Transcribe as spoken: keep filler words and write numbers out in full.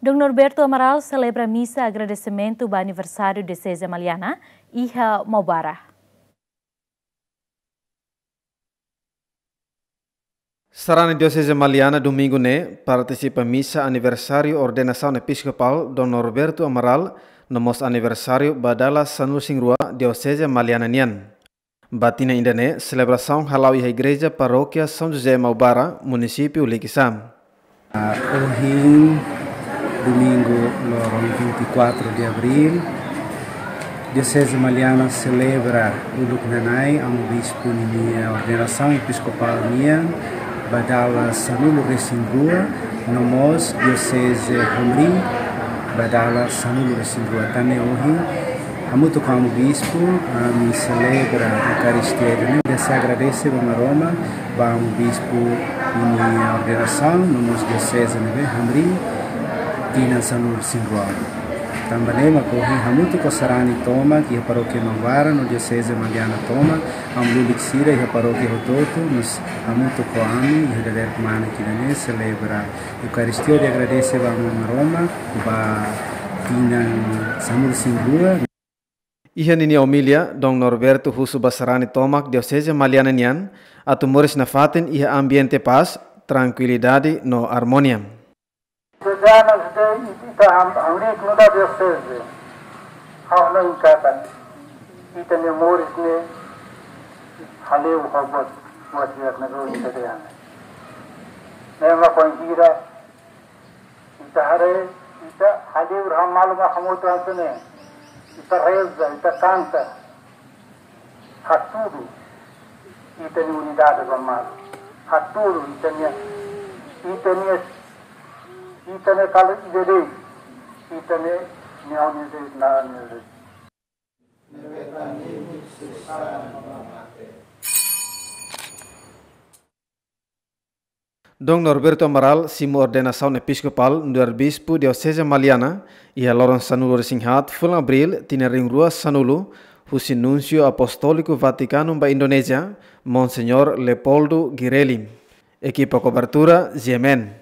Dom Norberto Amaral selebra misa agradesimentu ba aniversáriu Dioseze Maliana iha Maubara. Sarani Dioseze Maliana domingu ne'e partisipa misa aniversáriu ordenasaun episkopál Dom Norberto Amaral, no mós aniversáriu ba dala sanulu-resin-rua Dioseze Maliana nian. Ba tinan ida-ne'e, selebrasaun hala'o iha Igreja Parókia São José Maubara, Munisípiu Likisá. Ah, ohin, domingu, loron vinte e quatro de abril, Dioseze Maliana selebra uluk nanai Amu Bispu ninia ordenasaun episkopál nian ba dala sanulu-resin-rua, no mós Dioseze Hamriin ba dala sanulu-resin-rua. Tan ne'e ohin, hamutuk ho Amu Bispu, ami selebra Eukaristia ida-ne'e, dezeja agradese ba Maromak, ba Amu Bispu ninia ordenasaun, no mós Dioseze ne'ebé Hamriin, tinan sanulu-resin-rua. Tanba ne'e mak ohin hamutuk ho sarani tomak iha Parókia Maubara no Dioseze Maliana tomak, amu lulik sira iha parókia hotu-hotu, mós hamutuk ho ami iha dadeer kmanek ida-ne'e selebra Eukaristia hodi agradese ba Amu Maromak ba tinan sanulu-resin-rua. Iha ninia omilia, Dom Norberto husu ba sarani tomak Dioseze Maliana nian atu moris nafatin iha ambiente pás, trankuilidade no armonia. Sejanas de ita ham, hamriik nu'udar Dioseze, ha'u hanoin katak ita-nia moris ne'e hale'u ho buat, buat di'ak ne'ebé ita dehan. Ne'e mak bainhira ita haree, ita hale'u, ha'u malu mak hamutuk hanesan ne'e. Ita reza, ita kanta, hatudu ita-nia unidade ba malu. Hatudu ita-nia, ita-nia, ita-nia kala ida de'it, ita-nia, nia unidade na unidade. Dom Norberto Amaral simu ordenasaun episkopál nu'udar Bispu Dioseze Maliana iha loron sanulu-resin-haat fulan Abril tinan rihun rua sanulu, husi Núnsiu Apostóliku Vatikanu ba Indonézia, Monseñór Leopoldo Girelli. Ekipa kobertura, G M N.